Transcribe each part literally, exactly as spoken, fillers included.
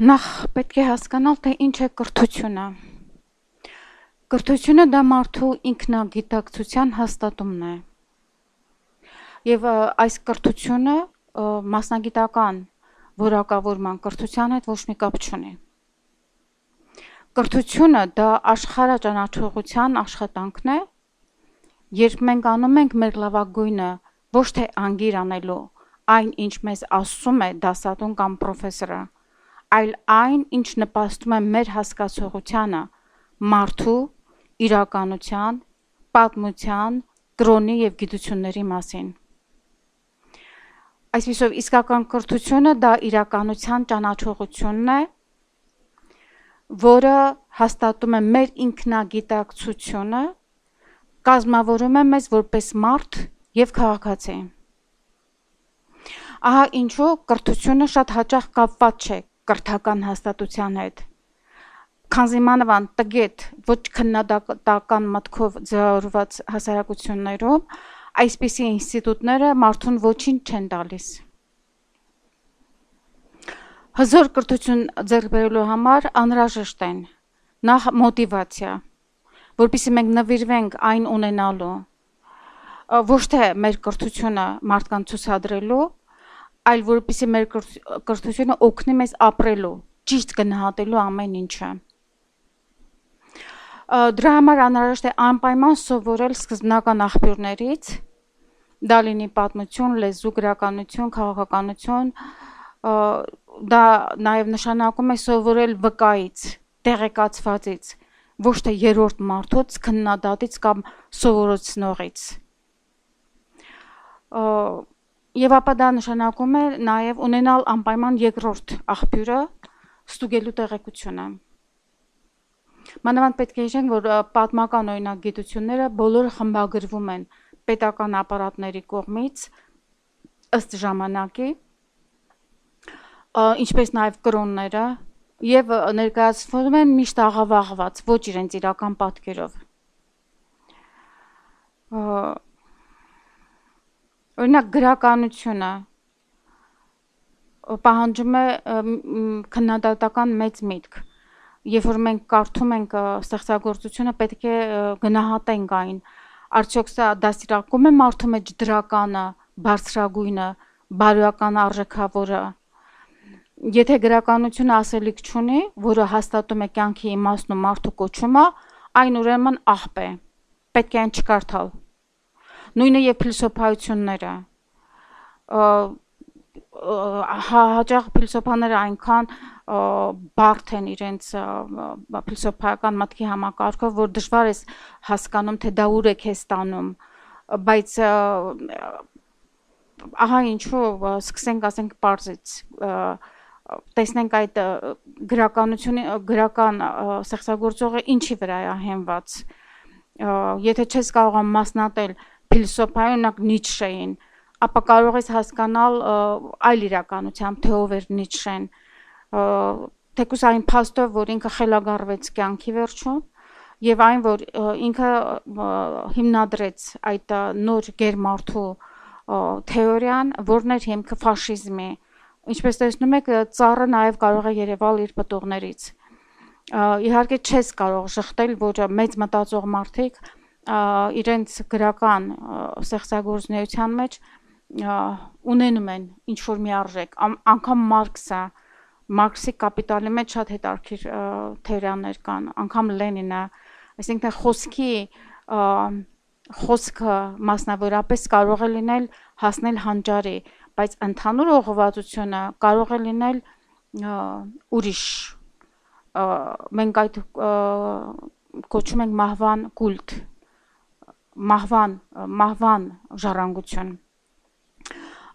Նախ պետք է հասկանալ, թե ինչ է կրթությունը։ Կրթությունը դա մարդու ինքնագիտակցության հաստատումն է։ Եվ այս կրթությունը մասնագիտական որակավորման կրթության հետ ոչ մի կապ չունի։ Կրթությունը դա աշխարհաճանաչողության աշխատանքն է, երբ մենք անում ենք մեր լավագույնը ոչ թե անգիր անելու այն, ինչ մեզ ասում է դասատուն կամ պրոֆեսորը, այլ այն, ինչ նպաստում է մեր հասկացողությանը մարդու, իրականության, պատմության, կրոնի և գիտությունների մասին։ Այսպիսով, իսկական կրթությունը դա իրականության ճանաչողությունն է, որը հաստատում է մեր ինքնագիտակցությունը, կազմավորում է մեզ որպես մարդ և քաղաքացի։ Ահա ինչու կրթությունը շատ հաճախ կապված չէ կրթական հաստատության հետ, քանզի մանավանդ տգետ, ոչ քննադատական մտքով ձևավորված հասարակություններում այսպիսի ինստիտուտները մարդուն ոչինչ չեն տալիս։ Հզոր կրթություն ձեռք բերելու համար անհրաժեշտ են նախ մոտիվացիա, որպեսզի մենք նվիրվենք այն ունենալու, ոչ թե մեր կրթությունը մարդկանց ցուցադրելու, այլ որպեսզի մեր կրթությունը օգնի մեզ ապրելու, ճիշտ գնահատելու ամեն ինչը։ Դրա համար անհրաժեշտ է անպայման սովորել սկզբնական աղբյուրներից, դա լինի պատմություն, լեզու, գրականություն, քաղաքականություն, դա նաև նշանակում է սովորել վկայից, տեղեկացվածից, ոչ թե երրորդ մարդուց, քննադատից կամ սովորեցնողից։ Եվ ապա դա նշանակում է նաև ունենալ անպայման երկրորդ աղբյուրը, ստուգելու տեղեկությունը։ Մանավանդ պետք է հիշենք, որ պատմական օրինակ գիտությունները բոլորը խմբագրվում են պետական ապարատների կողմից ըստ ժամանակի, ինչպես նաև կրոնները, և ներկայացվում են միշտ աղավաղված, ոչ իրենց իրական պատկերով։ Օրինակ գրականությունը պահանջում է քննադատական մեծ միտք, երբ որ մենք կարդում ենք ստեղծագործությունը, պետք է գնահատենք այն, արդյոք սա դաստիարակում է մարդու մեջ դրականը, բարձրագույնը, բարոյական արժեքավորը։ Եթե գրականությունը ասելիք չունի, որը հաստատում է կյանքի իմաստն ու մարդու կոչումը, այն ուրեմն աղբ է, պետք է այն չկարդալ։ Նույնը և փիլիսոփայությունները, հաճախ փիլիսոփաները այնքան բարդ են իրենց փիլիսոփայական մտքի համակարգով, որ դժվար ես հասկանում, թե դա ուր է քեզ տանում, բայց ահա ինչու սկսենք ասենք պարզից, տեսնենք այդ գրականությունը, գրական ստեղծագործողը ինչի վրա է հենված։ Եթե չես կարող մասնատել փիլիսոփայի, օրինակ Նիցշեին, ապա կարող ես հասկանալ այլ իրականությամբ, թե ով էր Նիցշեն, թեկուզ այն փաստով, որ ինքը խելագարվեց կյանքի վերջում, և այն, որ ինքը հիմնադրեց այդ նոր գերմարդու թեորիան, որն էր հիմքը ֆաշիզմի։ Ինչպես տեսնում եք, ծառը նաև կարող է երևալ իր պտուղներից։ Իհարկե չես կարող ժխտել, որ մեծ մտածող մարդիկ իրենց գրական ստեղծագործության մեջ ունենում են ինչ-որ մի արժեք, անգամ Մարքսը, Մարքսի կապիտալի մեջ շատ հետաքրքիր թեորիաներ կան, անգամ Լենինը, այսինքն խոսքի խոսքը մասնավորապես կարող է լինել հասնել հանճարի, բայց ընդհանուր ուղղվածությունը կարող է լինել ուրիշ, մենք այդ կոչում ենք մահվան կուլտ, մահվան, մահվան ժառանգություն։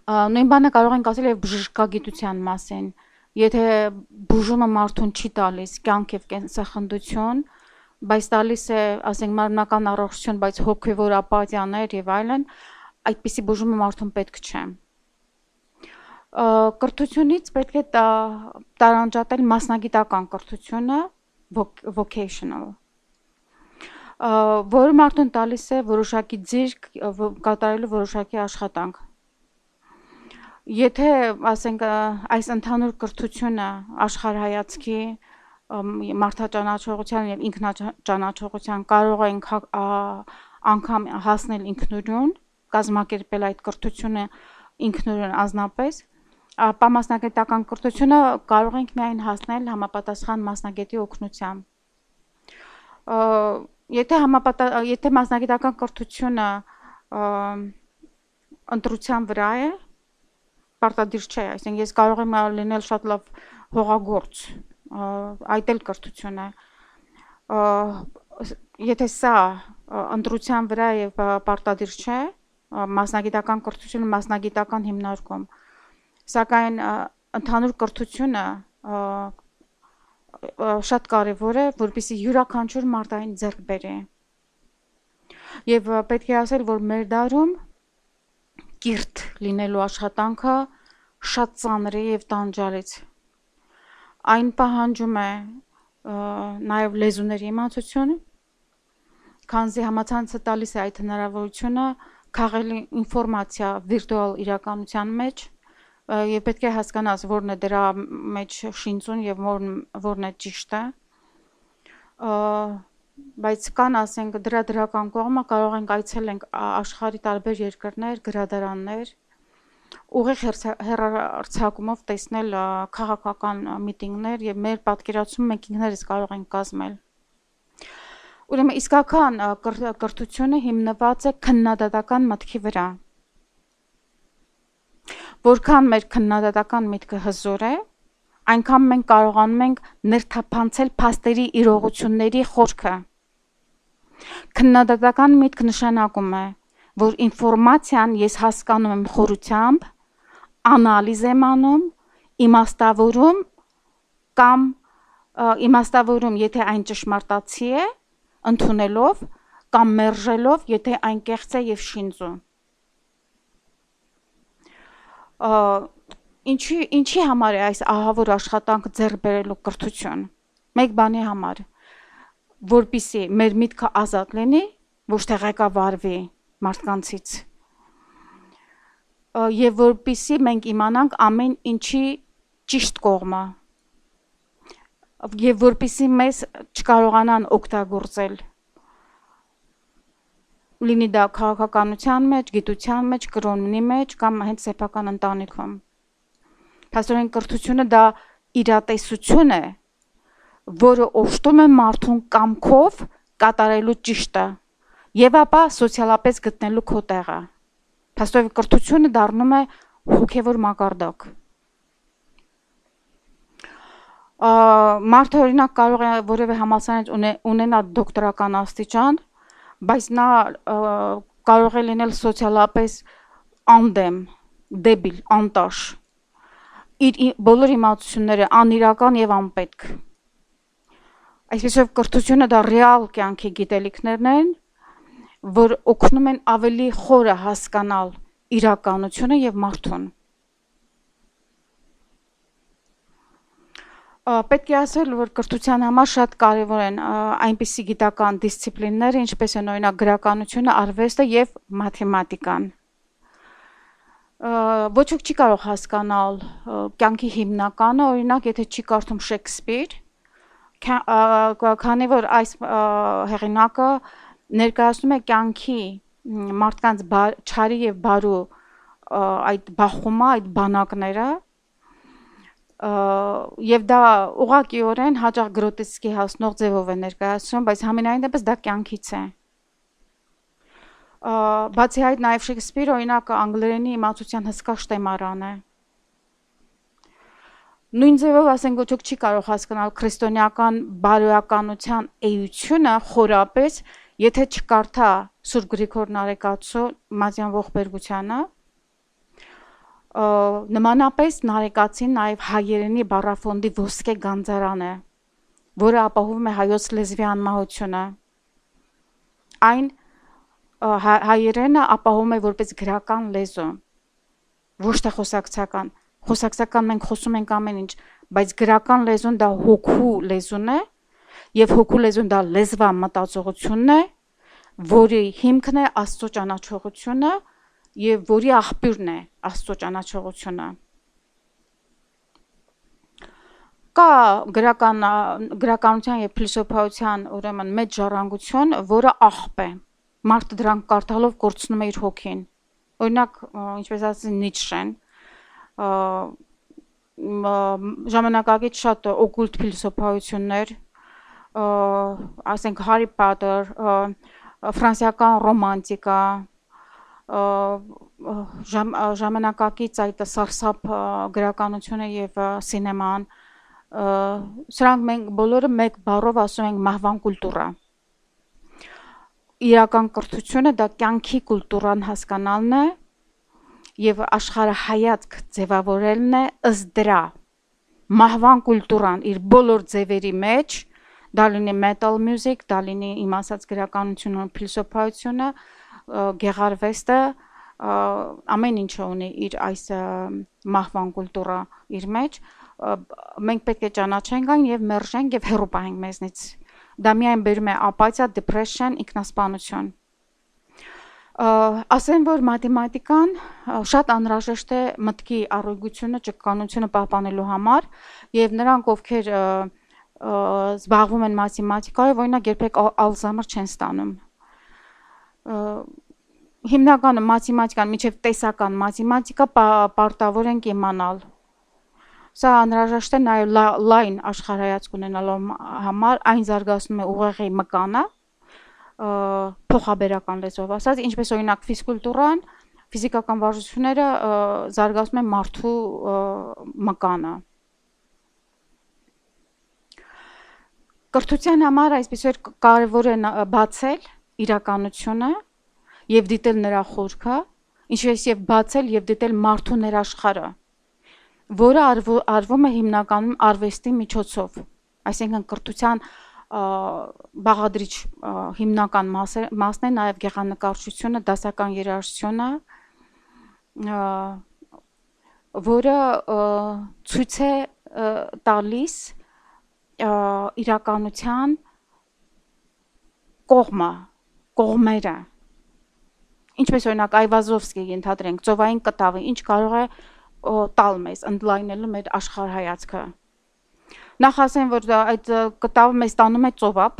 Նույն բանը կարող ենք ասել և բժշկագիտության մասին, եթե բուժումը մարդուն չի տալիս կյանք և կենսախնդություն, բայց տալիս է, ասենք, մարմնական առողջություն, բայց հոգևոր ապաթիաներ և այլն, այդպիսի բուժումը մարդուն պետք չէ։ Կրթությունից պետք է տարանջատել մասնագիտական կրթությունը, vocational, որը մարդուն տալիս է որոշակի ձիրք կատարելու որոշակի աշխատանք։ Եթե ասենք այս ընդհանուր կրթությունը աշխարհայացքի մարդաճանաչողության եւ ինքնաճանաչողության կարող ենք անգամ հասնել ինքնուրույն, կազմակերպել այդ կրթությունը ինքնուրույն անձնապես, ապա մասնագիտական կրթությունը կարող ենք միայն հասնել համապատասխան մասնագետի օգնությամբ։ Եթե համապատա եթե մասնագիտական կրթությունը ընտրության վրա է, պարտադիր չէ, այսինքն ես կարող եմ լինել շատ լավ հողագործ, այդ էլ կրթություն է։ Եթե սա ընտրության վրա եւ պարտադիր չէ, մասնագիտական կրթությունը մասնագիտական հիմնարկում, սակայն ընդհանուր կրթությունը շատ կարևոր է, որպեսզի յուրաքանչյուր մարդ այն ձեռք բերի։ Եվ պետք է ասել, որ մեր դարում կիրթ լինելու աշխատանքը շատ ծանր է եւ տանջալից։ Այն պահանջում է նաեւ լեզուների իմացություն, քանզի համացանցը տալիս է այդ հնարավորությունը քաղել ինֆորմացիա վիրտուալ իրականության մեջ եւ պետք է հասկանաս որն է դրա մեջ շինծուն եւ որն է ճիշտը։ Բայց կան ասենք դրա դրական կողմը կարող ենք այցելենք աշխարհի տարբեր երկրներ, գրադարաններ, ուղիղ հեռարձակումով տեսնել քաղաքական միտինգներ եւ մեր պատկերացումը մենք ինքներս կարող ենք կազմել։ Ուրեմն իսկական կրթությունը հիմնված է քննադատական մտքի վրա։ Որքան մեր քննադատական միտքը հզոր է, այնքան մենք կարողանում ենք ներթափանցել փաստերի իրողությունների խորքը։ Քննադատական միտք նշանակում է, որ ինֆորմացիան ես հասկանում եմ խորությամբ, անալիզ եմ անում, իմաստավորում կամ իմաստավորում, եթե այն ճշմարտացի է, ընդունելով կամ մերժելով, եթե այն կեղծ է եւ շինծու։ Ինչի ինչի համար է այս ահավոր աշխատանքը ձեռք բերելու կրթություն։ Մեկ բանի համար, որպեսզի մեր միտքը ազատ լինի, ոչ թե ղեկավարվի մարդկանցից։ Եվ որպեսզի մենք իմանանք ամեն ինչի ճիշտ կողմը։ Եվ որպեսզի մեզ չկարողանան օգտագործել։ Լինի դա քաղաքականության մեջ, գիտության մեջ, կրոնի մեջ կամ հենց սեփական ընտանիքում։ Փաստորեն կրթությունը դա իրատեսություն է, որը օժտում է մարդուն կամքով կատարելու ճիշտը եւ ապա սոցիալապես գտնելու քո տեղը։ Փաստորեն կրթությունը դառնում է հոգեվոր մակարդակ։ Մարդը օրինակ կարող է որևէ համալսարանից ունենալ դոկտորական աստիճան, բայց նա կարող է լինել սոցիալապես անդեմ, դեբիլ, անտաշ, իր բոլոր իմացությունները անիրական եւ անպետք։ Այսպեսով կրթությունը դա ռեալ կյանքի գիտելիքներն են, որ օգնում են ավելի խորը հասկանալ իրականությունը եւ մարդուն։ Պետք է ասել, որ կրթության համար շատ կարևոր են այնպիսի գիտական դիսցիպլիններ, ինչպես են օրինակ գրականությունը, արվեստը եւ մաթեմատիկան։ Ոչ ոք չի կարող հասկանալ կյանքի հիմնականը, օրինակ, եթե չի կարդում Շեքսպիր, քանի որ այս հեղինակը ներկայացնում է կյանքի մարդկանց չարի եւ բարու այդ բախումը, այդ բանակները, եւ դա ուղղակիորեն հաճախ գրոտեսկի հասնող ձևով է ներկայացնում, բայց համենայն դեպս դա կյանքից է։ Բացի այդ նաեւ Շեքսպիրը օրինակ անգլերենի իմացության հսկա շտեմարան է։ Նույն ձևով ասենք ոչ ոք չի կարող հասկանալ քրիստոնեական բարոյականության էությունը խորապես, եթե չկարդա Սուրբ Գրիգոր Նարեկացու Մատյան ողբերգությանը, նմանապես Նարեկացին նաև հայերենի բառաֆոնդի ոսկե գանձարան է, որը ապահովում է հայոց լեզվի անմահությունը։ Այն հայերենը ապահովում է որպես գրական լեզու, ոչ թե խոսակցական։ Խոսակցական մենք խոսում ենք ամեն ինչ, բայց գրական լեզուն դա հոգու լեզուն է, եւ հոգու լեզուն դա լեզվա մտածողությունն է, որի հիմքն է Աստծո ճանաչողությունը եւ որի աղբյուրն է Աստծո ճանաչողությունը։ Կա գրական գրականության եւ փիլիսոփայության ուրեմն մեծ ժառանգություն, որը աղբ է։ Մարդը դրանք կարդալով կորցնում է իր հոգին։ Օրինակ, ինչպես ասած Նիցշեն, ժամանակակից շատ օկուլտ փիլիսոփայություններ, ասենք Հարի Փոթեր, ֆրանսիական ռոմանտիկա, ժամանակակից այդ սարսափ գրականությունը եւ սինեման, սրանք մենք բոլորը մեկ բառով ասում ենք մահվան կուլտուրա։ Իրական կրթությունը դա կյանքի կուլտուրան հասկանալն է եւ աշխարհայացք ձևավորելն է ըստ դրա։ Մահվան կուլտուրան իր բոլոր ձևերի մեջ, դա լինի metal music, դա լինի իմ ասած գրականությունը, փիլիսոփայությունը, գեղարվեստը, ամեն ինչը ունի իր այս մահվան կուլտուրա իր մեջ, մենք պետք է ճանաչենք այն եւ մերժենք եւ հեռու պահենք մեզնից։ Դա միայն բերում է ապաթիա, depression, ինքնասպանություն։ Ասեմ, որ մաթեմատիկան շատ անհրաժեշտ է մտքի առողջությունը, ճկկանությունը պահպանելու համար եւ նրանք, ովքեր զբաղվում են մաթեմատիկայով, օրինակ երբեք Ալզհեյմեր չեն ստանում։ Հիմնականը մաթեմատիկան, միջև տեսական մաթեմատիկա պարտավոր ենք իմանալ։ Սա անհրաժեշտ է նաև լայն աշխարհայացք ունենալու համար, այն զարգացնում է ուղեղի մկանը, փոխաբերական լեզվով ասած, ինչպես օրինակ ֆիզկուլտուրան, ֆիզիկական վարժությունները զարգացնում են մարդու մկանը։ Կրթության համար այսպեսով կարևոր է բացել իրականությունը եւ դիտել նրա խորքը, ինչպես եւ բացել եւ դիտել մարդու ներաշխարհը, որը արվում է հիմնականում արվեստի միջոցով, այսինքն կրթության բաղադրիչ հիմնական մասն է նաև գեղանկարչությունը, դասական երաժշտությունը, որը ցույց է տալիս իրականության կողմը, կողմերը, ինչպես օրինակ Այվազովսկիի ենթադրենք, ծովային կտավը, ինչ կարող է տալ մեզ, ընդլայնելու մեր աշխարհայացքը։ Նախ ասեմ, որ այդ կտավը մեզ տանում է ծովափ,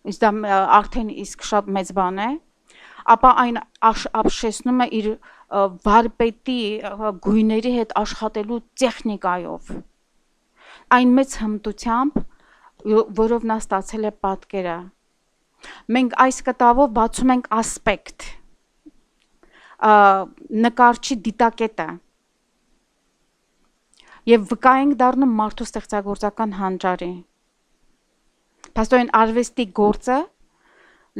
իսկ դա արդեն իսկ շատ մեծ բան է, ապա այն ապշեցնում է իր վարպետի գույների հետ աշխատելու տեխնիկայով, այն մեծ հմտությամբ, որով նա ստացել է պատկերը։ Մենք այս կտավով բացում ենք ասպեկտ, նկարչի դիտակետը, եւ վկա ենք դառնում մարդու ստեղծագործական հանճարի։ Փաստորեն արվեստի գործը,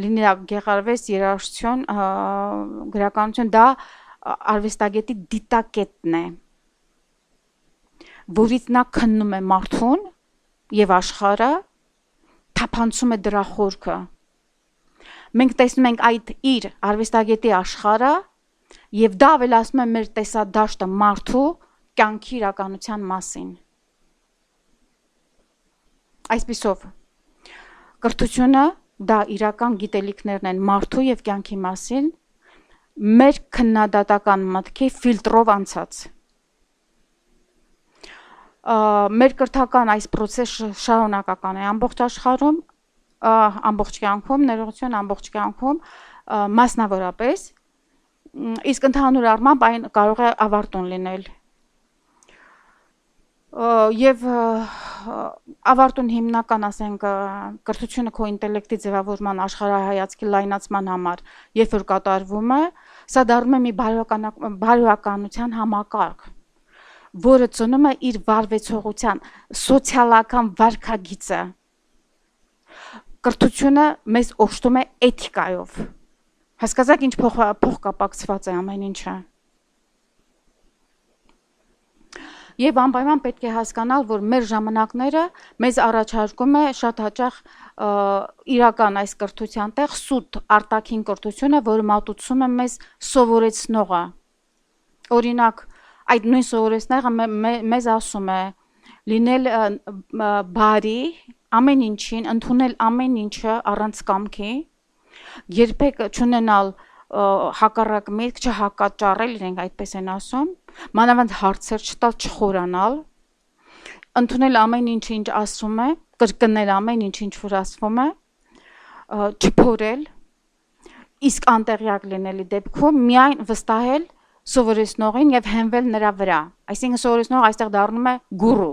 լինի գեղարվեստ, երաժշտություն, գրականություն, դա արվեստագետի դիտակետն է, որից նա քննում է մարդուն եւ աշխարհը, թափանցում է դրա խորքը։ Մենք տեսնում ենք այդ իր արվեստագետի աշխարհը եւ դա ավելացնում է մեր տեսադաշտը մարդու կյանքի իրականության մասին։ Այսպիսով, կրթությունը դա իրական գիտելիքներն են մարդու եւ կյանքի մասին, մեր քննադատական մտքի ֆիլտրով անցած։ Մեր կրթական այս process-ը շարունակական է ամբողջ աշխարհում, ամբողջ կյանքում, ներողություն, ամբողջ կյանքում, մասնավորապես, իսկ ընդհանուր առմամբ այն կարող է ավարտուն լինել։ Եվ ավարտուն հիմնական, ասենք, կրթությունը քո ինտելեկտի ձևավորման, աշխարհայացքի լայնացման համար, երբ որ կատարվում է, սա դառնում է մի բարոյականության համակարգ, որը ծնում է իր վարվեցողության սոցիալական վարքագիծը։ Կրթությունը մեզ օժտում է էթիկայով։ Հասկացաք, ինչ փոխկապակցված է ամեն ինչը։ Եվ անպայման պետք է հասկանալ, որ մեր ժամանակները մեզ առաջարկում է շատ հաճախ իրական այս կրթության տեղ սուտ արտաքին կրթությունը, որը մատուցում է մեզ սովորեցնողը։ Օրինակ, այդ նույն սովորեցնողը մեզ ասում է լինել բարի, ամեն ինչին, ընդունել ամեն ինչը առանց կամքի, երբեք չունենալ հակառակ միտք չհակաճառել, իրենք այդպես են ասում, մանավանդ հարցեր չտալ, չխորանալ, ընդունել ամեն ինչ, ինչ ասում է, կրկնել ամեն ինչ, ինչ որ ասվում է, չփորել, իսկ անտեղյակ լինելի դեպքում միայն վստահել սովորեցնողին եւ հենվել նրա վրա։ Այսինքն սովորեցնողը այստեղ դառնում է գուրու,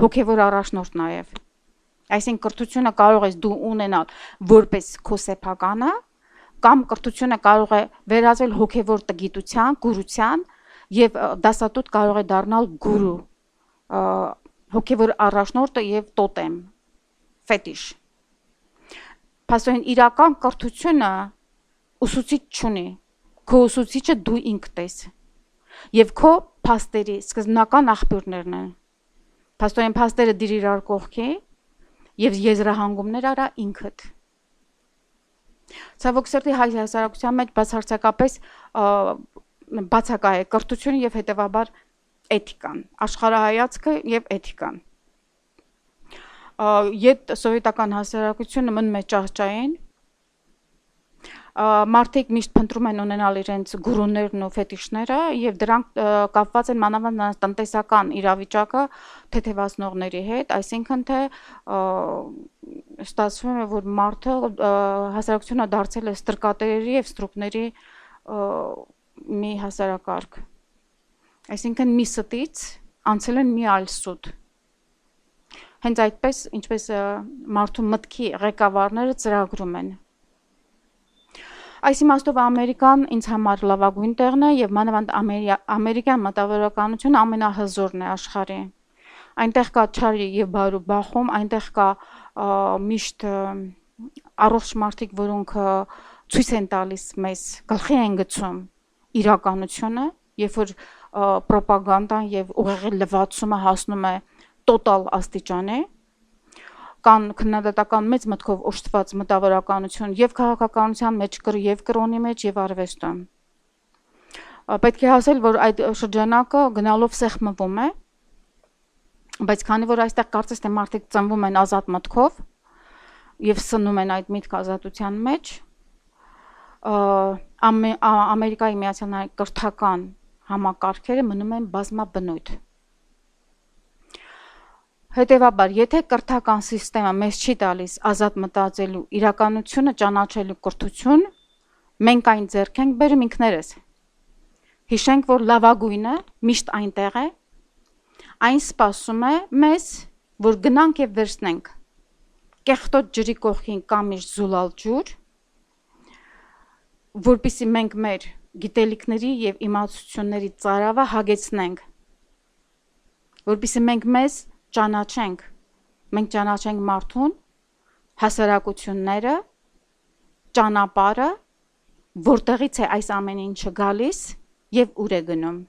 հոգեվոր առաջնորդ նաեւ։ Այսինքն կրթությունը կարող ես դու ունենալ որպես քո սեփականը, կամ կրթությունը կարող է վերածվել հոգեվոր տգիտության, գուրության եւ դասատուտ կարող է դառնալ գուրու, հոգեվոր առաջնորդը եւ տոտեմ, ֆետիշ։ Փաստորեն իրական կրթությունը ուսուցիչ չունի, քո ուսուցիչը դու ինքդ ես եւ քո փաստերի սկզբնական աղբյուրներն են։ Փաստորեն փաստերը դիր իրար կողքի եւ եզրահանգումներ արա ինքդ։ Ցավոք սրտի հայ հասարակության մեջ բացարձակապես բացակա է կրթությունը եւ հետեւաբար էթիկան, աշխարհայացքը եւ էթիկան։ Ետ սովետական հասարակությունը մնում է ճահճային, մարդիկ միշտ փնտրում են ունենալ իրենց գուրուներն ու ֆետիշները եւ դրանք կապված են մանավանդ տնտեսական իրավիճակը թեթևացնողների հետ, այսինքն թե ստացվում է, որ մարդը հասարակությունը դարձել է ստրկատերերի եւ ստրուկների մի հասարակարգ։ Այսինքն մի ստից անցել են մի այլ սուտ։ Հենց այդպես, ինչպես մարդու մտքի ղեկավարները ծրագրում են։ Այս իմաստով Ամերիկան ինձ համար լավագույն տեղն է եւ մանավանդ ամերիկյան մտավորականությունը ամենահզորն է աշխարհի։ Այնտեղ կա չարի եւ բարու բախում, այնտեղ կա միշտ առողջ մարդիկ, որոնք ցույց են տալիս մեզ, գլխի են գցում իրականությունը, երբ որ պրոպագանդան եւ ուղեղի լվացումը հասնում է տոտալ աստիճանի, կան քննադատական մեծ մտքով օժտված մտավորականություն եւ քաղաքականության մեջ եւ կրոնի մեջ եւ արվեստում։ Պետք է ասել, որ այդ շրջանակը գնալով սեղմվում է, բայց քանի որ այստեղ կարծես թե մարդիկ ծնվում են ազատ մտքով եւ սննում են այդ միտք ազատության մեջ, Ամերիկայի Միացյալ Նահանգների կրթական համակարգերը մնում են բազմաբնույթ։ Հետևաբար, եթե կրթական համակարգը մեզ չի տալիս ազատ մտածելու, իրականությունը ճանաչելու կրթություն, մենք այն ձեռք ենք բերում ինքներս։ Հիշենք, որ լավագույնը միշտ այնտեղ է, այն սպասում է մեզ, որ գնանք եւ վերցնենք կեղտոտ ջրի կողքին կամ զուլալ ջուր, որպեսզի մենք մեր գիտելիքների եւ իմացությունների ծարավը հագեցնենք, որպեսզի մենք մեզ ճանաչենք, մենք ճանաչենք մարդուն, հասարակությունները, ճանապարհը, որտեղից է այս ամեն ինչը գալիս եւ ուր է գնում։